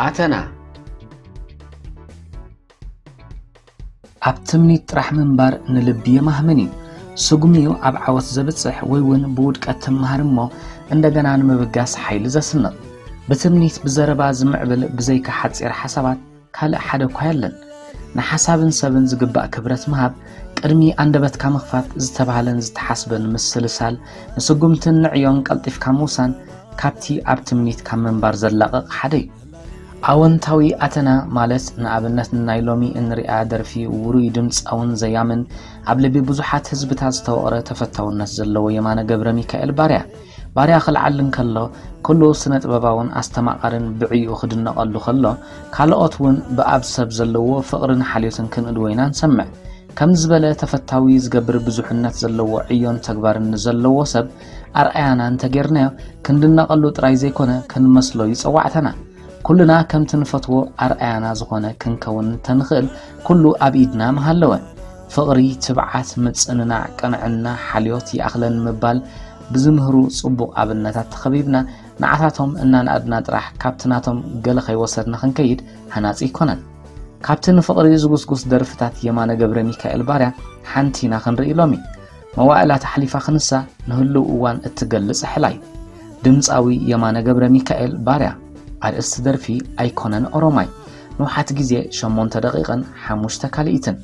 ኣተና። ኣብ ትምኒት ጥራሕ ምንባር ንልቢ የማህምን እዩ። ስጉም እዩ ኣብ ዓወት ዘብጽሕ ወይ እውን ብውድቀት ትመሃር እሞ እንደገና ንምብጋስ ሓይሊ ዘስንቕ። ብትምኒት ብዘረባ ዝምዕብል ብዘይካ ሓጺር ሓሳባት ካልእ ሓደ እኳ የለን። ንሓሳብን ሰብን ዝግባእ ክብረት ምሃብ፣ ቅድሚ ኣንደበትካ ምኽፋት፣ ዝተባህለን ዝተሓስበን ምስልሳል፣ ንስጉምትን ንዕዮን ቀልጢፍካ ምውሳን፣ ካብቲ ኣብ ትምኒት ካብ ምንባር ዘላቕቕ ሓደ እዩ። ኣወንታዊ ኣተና ማለት ንኣብነት ንናይ ሎሚ እንሪኣ ደርፊ ውሩይ ድምጻውን ዘያምን ኣብ ልቢ ብዙሓት ህዝብታት ዝተወቕረ ተፈታውነት ዘለዎ የማነ ገብረ ሚካኤል ባርያ። ባርያ ክልዓል እንከሎ ኩሉ ስነ ጥበባውን ኣስተማቓርን ብዕይኡ ክድነቐሉ ከሎ ካልኦት እውን ብኣብ ሰብ ዘለዎ ፍቕርን ሓልዮትን ክንእድዎ ኢና ንሰምዕ። ከምዚ ዝበለ ተፈታዊ ዝገብር ብዙሕነት ዘለዎ ዕዮን ተግባርን ንዘለዎ ሰብ ኣርኣያና እንተጌርናዮ ክንድነቐሉ ጥራይ ዘይኮነ ክንመስሎ እዩ ጸዋዕታና። ኩልና ከምቲ ንፈትዎ ኣርኣያና ዝኾነ ክንከውን እንተንኽእል ኩሉ ኣብ ኢድና ምሃለወ። ፍቕሪ፣ ትብዓት፣ ምጽንናዕ፣ ቅንዕና፣ ሓልዮት ይኣኽለን ምባል ብዝምህሩ ጽቡቕ ኣብነታት ተኸቢብና ንዓታቶም እናነኣድና ጥራሕ ካብቲ ናቶም ገለ ከይወሰድና ክንከይድ ሃናጺ ኣይኮነን። ካብቲ ንፍቕሪ ዝጉስጉስ ደርፍታት የማነ ገብረ ሚካኤል ባርያ ሓንቲ ኢና ክንርኢ ሎሚ። መዋእላት ኣሕሊፋ ክንሳ ንህልው እዋን እትገልጽ ሕላይ። ድምጻዊ የማነ ገብረ ሚካኤል ባርያ። ኣርእስቲ ደርፊ ኣይኮነን ኦሮማይ። ንውሓት ግዜ ሸሞንተ ደቂቕን ሓሙሽተ ካልኢትን።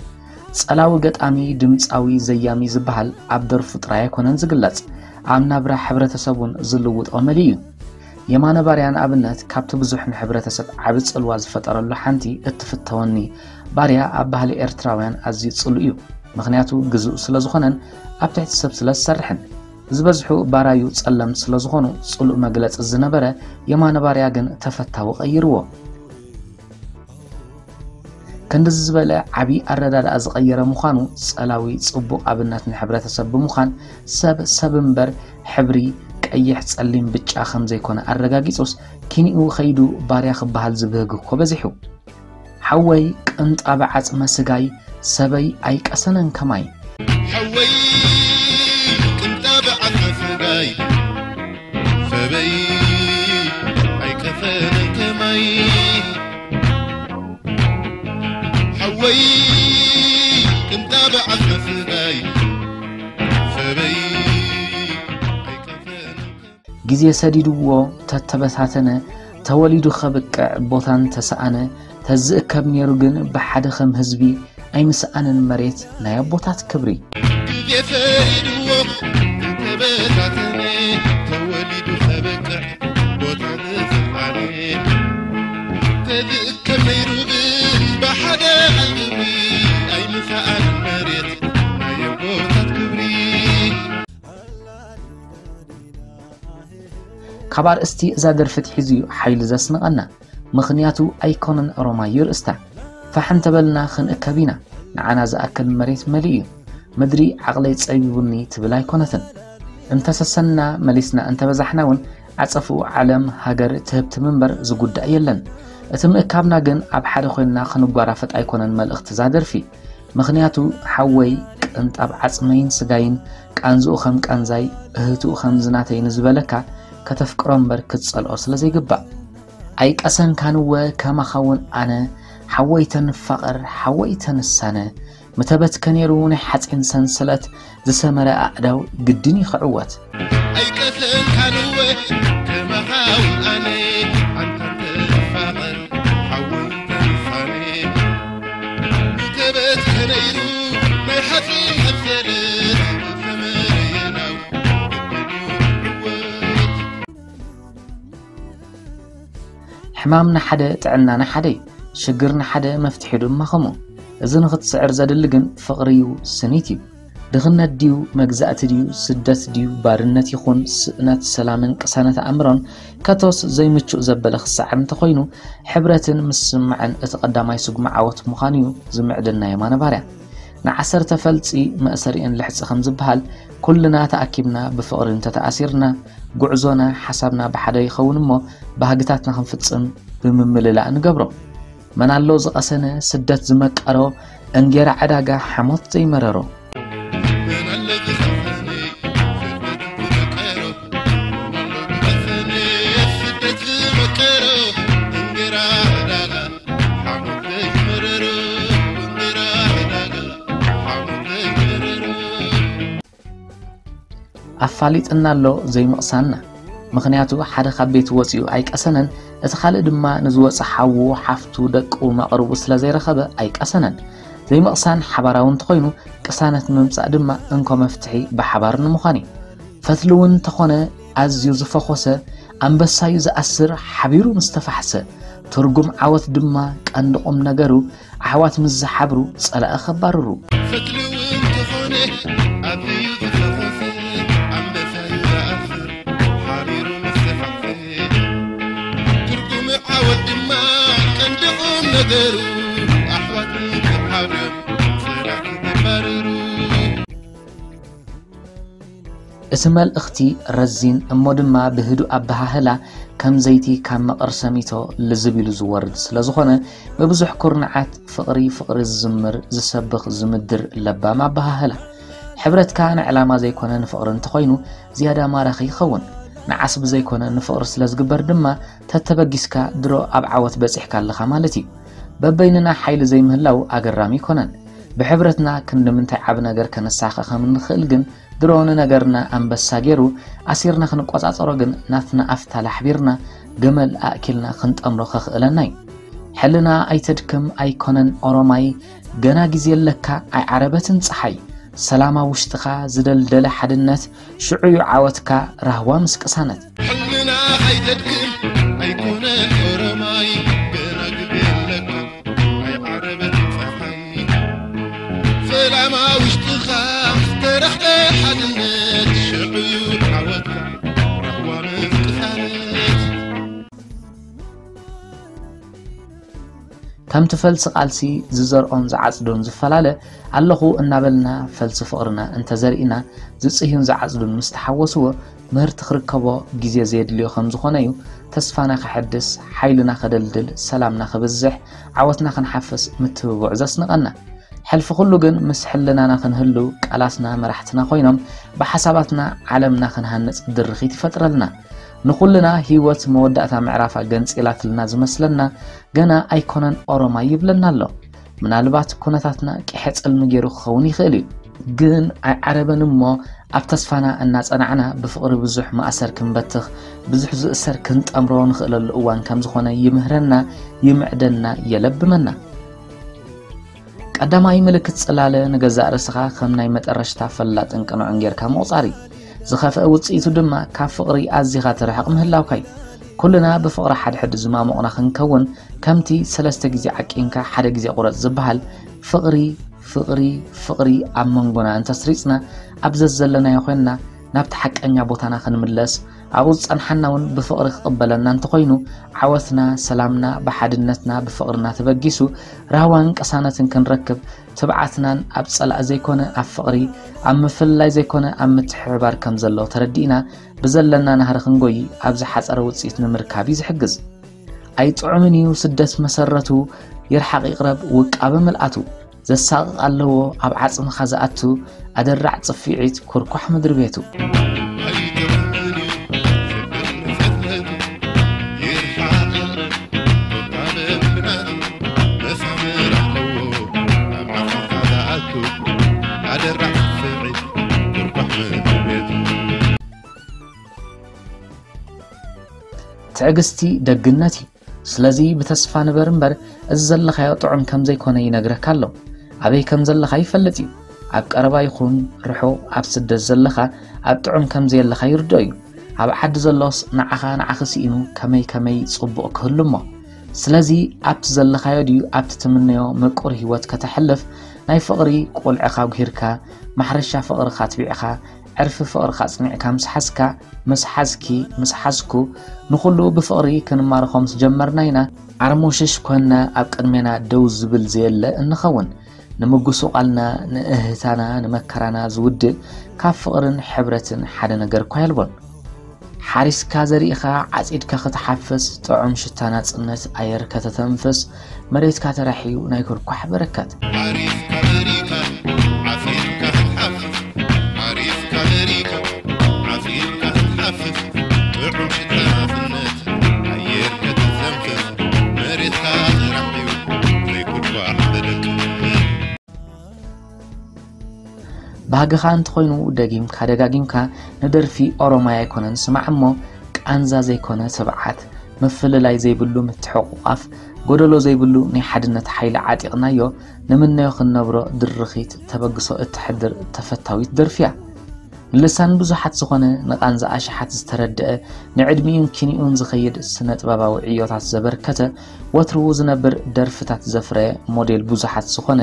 ጸላዊ ገጣሚ፣ ድምጻዊ፣ ዘያሚ ዝበሃል ኣብ ደርፉ ጥራይ ኣይኮነን ዝግለጽ። ኣብ ናብራ ሕብረተሰብ እውን ዝልውጦ መሊኡ እዩ። የማነ ባርያ ንኣብነት ካብቲ ብዙሕ ንሕብረተሰብ ዓቢ ጽልዋ ዝፈጠረሉ ሓንቲ እትፍተወኒ ባርያ ኣብ ባህሊ ኤርትራውያን ኣዝዩ ጽሉእ እዩ። ምኽንያቱ ግዙእ ስለ ዝኾነን ኣብ ትሕቲ ሰብ ስለ ዝሰርሕን። ዝበዝሑ ባራዩ ጸለምቲ ስለ ዝኾኑ ጽሉእ መግለጺ ዝነበረ የማነ ባርያ ግን ተፈታዊ ቀይርዎ። ክንድዚ ዝበለ ዓቢ ኣረዳድኣ ዝቐየረ ምዃኑ ጸላዊ ጽቡቕ ኣብነት ንሕብረተሰብ ብምዃን ሰብ ሰብ እምበር ሕብሪ ቀይሕ፣ ጸሊም፣ ብጫ ከም ዘይኮነ ኣረጋጊጹስ ኪንኡ ኸይዱ ባርያ ክበሃል ዝብህግ እኮ በዚሑ። ሓወይ ቅንጣብ ዓጽመ ስጋይ ሰበይ ኣይቀሰነን ከማይ። ሓወይ ቅንጣብ ዓጽመ ስጋይ ሰበይ ኣይቀሰነን ከማይ። ሓወይ ቅንጣብ ዓጽመ ስጋይ ሰበይ ኣይቀሰነን ከማይ። ግዜ ሰዲድዎ ተተበታተነ፣ ተወሊዱ ኸብቅዕ ቦታ እንተሰኣነ፣ ተዝእከብ ነይሩ ግን ብሓደ ከም ህዝቢ ኣይምስኣንን መሬት ናይ ኣቦታት ክብሪ። ግዜ ሰዲድዎ ተተበታተነ፣ ተወሊዱ ኸብቅዕ ቦታ እንተሰኣነ፣ ተዝእከብ ነይሩ ግን ብሓደ ህዝቢ ኣይምስኣንን መሬት ናይ ኣቦታት ክብሪ። ካብ ኣርእስቲ እዛ ደርፊ ኣትሒዙ እዩ ሓይሊ ዘስንቐና። ምኽንያቱ ኣይኮነን ኦሮማይ እዩ ርእስታ። ፋሕ እንተበልና ክንእከብ ኢና። ንዓና ዝኣክል መሬት መሊኡ እዩ። ምድሪ ዓቕለይ ጸቢቡኒ ትብል ኣይኮነትን። እንተሰሰንና መሊስና እንተበዛሕና እውን ዓጸፍኡ ዓለም ሃገር ትህብቲ ምንበር ዝጉዳእ የለን። እቲ ምእካብና ግን ኣብ ሓደ ኮይንና ክንጓራፈጥ ኣይኮነን መልእኽቲ እዛ ደርፊ። ምኽንያቱ ሓወይ ቅንጣብ ዓጽመይን ስጋይን ቃንዝኡ ከም ቃንዛይ እህትኡ ከም ዝናተይ ንዝበለካ ከተፍቅሮ እምበር ክትጸልኦ ስለ ዘይግባእ። ኣይቀሰንካንወ ከማኻውን ኣነ ሓወይ ተንፋቐር ሓወይ ተንሳነ ምተበትከ ነይሩ ናይ ሓጺን ሰንሰለት ዝሰመረ ኣእዳው ግድን እዩ ክዕወት። ኣይቀሰንካንወ ከማኻውን ኣነ ኣንታ ተንፋቐር ሓወይ ተንሳነ ምተበትከ ነይሩ ናይ ሓጺን ሰንሰለት ዝሰመረ ኣእዳው ግድን እዩ ክዕወት። ሕማም ንሓደ ጥዕና ንሓደ እዩ። ሽግር ንሓደ መፍትሒ ድማ ከምኡ። እዚ ንኽትስዕር ዘድሊ ግን ፍቕሪ እዩ፣ ስኒት እዩ። ድኽነት ድዩ፣ መግዛእቲ ድዩ፣ ስደት ድዩ፣ ባርነት ይኹን ስእነት ሰላምን ቅሳነት ኣእምሮን ከቶስ ዘይምቹእ ዘበለ ክሰዓር እንተኾይኑ ሕብረትን ምስምማዕን እቲ ቀዳማይ ስጉሚ ዓወት ምዃኑ እዩ ዝምዕድና የማነ ባርያ። ንዓሰርተ ፈልጺ መእሰሪኤን ልሕጺ ከም ዝበሃል ኩልና ተኣኪብና ብፍቕሪ እንተተኣሲርና ጉዕዞና ሓሳብና ብሓደ ይኸውን እሞ ባህግታትና ክንፍጽም ብምምልላእ ንገብሮ። መን ኣሎ ዝቐሰነ ስደት ዝመቀሮ እንጌራ ዕዳጋ ሓሞት ዘይመረሮ። መን ኣሎ ዝቐሰነ ስደት ዝመቀሮ፣ መን ኣሎ ዝቐሰነ ስደት ዝመቀሮ እንጌራ ኣፋሊጥና ኣሎ ዘይምቕሳንና። ምኽንያቱ ሓደ ካብ ቤት ወጺኡ ኣይቀሰነን፣ እቲ ካልእ ድማ ንዝወጸ ሓዉ፣ ሓፍቱ፣ ደቁ፣ መቕርቡ ስለ ዘይረኸበ ኣይቀሰነን። ዘይምቕሳን ሓባራዊ እንተኾይኑ፣ ቅሳነት ምምጻእ ድማ እንኮ መፍትሒ ብሓባር ንምዃን እዩ። ፈትሊ እውን እንተኾነ ኣዝዩ ዝፈኾሰ፣ ኣንበሳዩ ዝኣስር ሓቢሩ ምስ ተፋሕሰ። ትርጉም ዓወት ድማ ቀንዲ ቁም ነገሩ ኣሕዋት ምስ ዝሓብሩ ጸላኢ ከባርሩ። ፈትሊ እውን ተኾነ ኣዝዩ ዝፈኾሰ፣ ኣንበሳዩ ዝኣስር ሓቢሩ ምስ ተፋሕሰ። ትርጉም ዓወት ድማ ቀንዲ ቁም ነገሩ ኣሕዋት ምስ ዝሓብሩ ጸላኢ ከባርሩ። እቲ መልእኽቲ ረዚን እሞ ድማ ብህዱእ ኣበሃህላ ከም ዘይቲ ካብ መቐር ሰሚቶ ልዝብ ኢሉ ዝወርድ ስለ ዝኾነ፣ ብብዙሕ ኩርንዓት ፍቕሪ ፍቕሪ ዝዝምር፣ ዝሰብኽ፣ ዝምድር ለባም ኣበሃህላ። ሕብረትካ ንዕላማ ዘይኮነ ንፍቕሪ እንተኾይኑ ዝያዳ ማራኺ ይኸውን። ንዓስቢ ዘይኮነ ንፍቕሪ ስለ ዝግበር ድማ ተተበጊስካ ድሮ ኣብ ዓወት በጺሕካ ኣለኻ ማለት እዩ። በበይንና ሓይሊ ዘይምህላው ኣገራሚ ኣይኮነን። ብሕብረትና ክንዲ ምንታይ ዓቢ ነገር ከነሳኸ ከም እንኽእል ግን ድሮ ንነገርና ኣንበሳ ገይሩ ኣሲርና ክንቆጻጸሮ ግን ናትና ኣፍታል ኣሕቢርና ገመል ኣእኪልና ክንጠምሮ ከኽእለና እዩ። ሕልና ኣይተድክም ኣይኮነን ኦሮማይ፣ ገና ግዜ ኣለካ ኣይዓረበትን ጸሓይ። ሰላም ኣብ ውሽጥኻ ዝደልደለ ሓድነት ሽዑ እዩ ዓወትካ ራህዋ ምስ ቅሳነት። ሕልና ኣይተድክም ኣይኮነን ኦሮማይ፣ ገና ግዜ ኣለካ ኣይዓረበትን ጸሓይ። ሰላም ኣብ ውሽጥኻ ዝተረኽበ ሓድነት ሽዑ እዩ ዓወትካ ራህዋ ምስ ቅሳነት። ከምቲ ፈልሲ ቃልሲ ዝዘርኦን ዝዓጽዶን ዝፈላለ ኣለኹ እናበልና ፈልሲ ፍቕርና እንተዘሪእና ዝጽህዩን ዝዓጽዱን ምስ ተሓወስዎ ምህርቲ ክርከቦ ግዜ ዘየድልዮ ከም ዝኾነ እዩ ተስፋና ከሐድስ፣ ሓይልና ከደልድል፣ ሰላምና ክብዝሕ፣ ዓወትና ክንሓፍስ ምትብብዑ ዘስንቐና። ሕልፊ ኩሉ ግን ምስ ሕልናና ክንህሉ ቃላትና መራሕትና ኮይኖም ብሓሳባትና ዓለምና ክንሃንጽ ድርኺት ይፈጥረልና። ንኹልና ህይወት መወዳእታ ምዕራፋ ገንጺላትልና ዝመስለና ገና ኣይኮነን ኦሮማይ ይብለና ኣሎ። ምናልባት ኩነታትና ቂሐ ጽልሚ ገይሩ ክኸውን ይኽእል እዩ። ግን ኣይዓረበን እሞ ኣብ ተስፋና እናጸናዕና ብፍቕሪ ብዙሕ ማእሰር ክንበትኽ፣ ብዙሕ ዝእሰር ክንጠምሮ ንኽእለሉ እዋን ከም ዝኾነ ይምህረና፣ ይምዕደና፣ የለብመና። ቀዳማይ ምልክት ጽላለ ንገዛእ ርእስኻ ከም ናይ መጠረሽታ ፈላጥን ቅኑዕን ጌርካ ምቑጻር እዩ። ዝኸፍአ ውጽኢቱ ድማ ካብ ፍቕሪ ኣዚኻ ትርሕቕ ምህላውካ እዩ። ኩልና ብፍቕሪ ሓድሕድ ዝማሞቕና ክንከውን፣ ከምቲ ሰለስተ ግዜ ዓቂንካ ሓደ ግዜ ቁረጽ ዝበሃል፣ ፍቕሪ፣ ፍቕሪ፣ ፍቕሪ ኣብ መንጎና እንተስሪጽና፣ ኣብ ዘዘለናዮ ኮይንና ናብቲ ሓቀኛ ቦታና ክንምለስ፣ ኣብኡ ዝጸንሓና እውን ብፍቕሪ ክቕበለና እንተኾይኑ፣ ዓወትና፣ ሰላምና፣ ብሓድነትና፣ ብፍቕርና ተበጊሱ፣ ራህዋን ቅሳነትን ክንረክብ፣ ትብዓትናን ኣብ ጸላኢ ዘይኮነ ኣብ ፍቕሪ፣ ኣብ ምፍልላይ ዘይኮነ ኣብ ምትሕብባር ከም ዘሎ ተረዲእና፣ ብዘለና ናህሪ ክንጎዪ፣ ኣብ ዝሓጸረ ውጽኢት ንምርካብ እዩ ዝሕግዝ። ኣይጥዑምን እዩ ስደት መሰረቱ፣ ይርሓቕ ይቕረብ ውቃበ ምልኣቱ። ዘሳቕቕ ኣለዎ ኣብ ዓጽምኻ ዝኣቱ፣ ኣደራዕ ጽፍዒት ኩርኳሕ ምድሪ ቤቱ። ኣይጥዑምን እዩ ስደት መሰረቱ፣ ይርሓቕ ይቕረብ ውቃበ ምልኣቱ። መሳምር ኣለዎ ኣብ ዓጽምኻ ዝኣቱ፣ ኣደራዕ ጽፍዒት ኩርኳሕ ምድሪ ቤቱ። ትዕግስቲ ደግነት እዩ። ስለዚ ብተስፋ ንበር እምበር፣ እዚ ዘለኻዮ ጥዑም ከም ዘይኮነ ይነግረካ ኣሎ። ኣበይ ከም ዘለኻ ይፈልጥ እዩ። ኣብ ቀረባ ይኹን ርሑቕ፣ ኣብ ስደት ዘለኻ ኣብ ጥዑም ከም ዘየለኻ ይርድኦ እዩ። ኣብ ዓዲ ዘሎስ ንዓኻ ንዓኺ ስኢኑ ከመይ ከመይ ጽቡቕ ክህሉ እሞ። ስለዚ ኣብቲ ዘለኻዮ ድዩ ኣብቲ ትምነዮ ምቁር ህይወት ከተሕልፍ፣ ናይ ፍቕሪ ቁልዕኻ ኣጉሂርካ፣ ማሕረሻ ፍቕርኻ ኣትቢዕኻ፣ ዕርፊ ፍቕርኻ ኣጽኒዕካ ምስ ሓዝካ፣ ምስ ሓዝኪ፣ ምስ ሓዝኩ፣ ንኹሉ ብፍቕሪ ክንማርኾ ምስ ጀመርና ኢና፣ ዓርሞሽሽ ኮንና ኣብ ቅድሜና ደው ዝብል ዘየለ እንኸውን። ንምጉስቋልና፣ ንእህህታና፣ ንመከራና ዝውድእ ካብ ፍቕርን ሕብረትን ሓደ ነገር እኳ የልቦን። ሓሪስካ ዘሪእኻ፣ ዓጺድካ ክትሓፍስ፣ ጥዑም ሽታ ናጽነት ኣየር ከተተንፍስ፣ መሬትካ ተራሕዩ ናይ ኩርኳሕ በረከት። ሓሪስካ ዘሪእካ፣ ዓጺድካ ክትሓፍስ፣ ሓሪስካ ዘሪእካ፣ ዓጺድካ ክትሓፍስ፣ ጥዑም ሽታ ናጽነት ኣየር ከተተንፍስ፣ መሬትካ ተራሕዩ ናይ ኩርኳሕ በረከት። ባህግኻ እንተኾይኑ፣ ደጊምካ ደጋጊምካ ንደርፊ ኦሮማይ ኣይኮነን ስማዕ እሞ፣ ቃንዛ ዘይኮነ ትብዓት፣ ምፍልላይ ዘይብሉ ምትሕቑቓፍ፣ ጎደሎ ዘይብሉ ናይ ሓድነት ሓይሊ ዓጢቕናዮ፣ ንምነዮ ክንነብሮ ድርኺት ተበግሶ እትሕድር ተፈታዊት ደርፊ እያ። ንልሳን ብዙሓት ዝኾነ፣ ንቓንዛ ኣሽሓት ዝተረድአ፣ ንዕድሚኡን ኪኒኡን ዝኸይድ ስነ ጥበባዊ ዕዮታት ዘበርከተ፣ ወትሩ ዝነብር ደርፍታት ዘፍረየ ሞዴል ብዙሓት ዝኾነ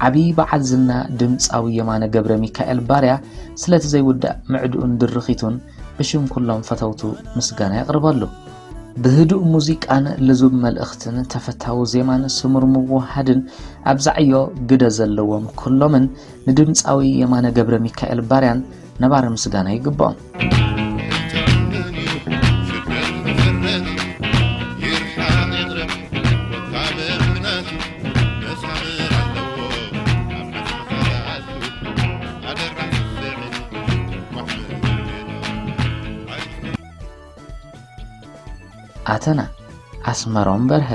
ዓብዪ በዓል ዝና ድምፃዊ የማነ ገብረ ሚካኤል ባርያ ስለቲ ዘይውዳእ ምዕድኡን ድርኺቱን ብሽም ኩሎም ፈተውቱ ምስጋና የቕርበሉ። ብህዱእ ሙዚቃን ልዙብ መልእኽትን ተፈታዊ ዜማን ስሙር ምውሃድን ኣብዛ ዕዮ ግደ ዘለዎም ኩሎምን ንድምፃዊ የማነ ገብረ ሚካኤል ባርያን ነባሪ ምስጋና ይግብኦም። ኣተና ኣስመሮም በርሀ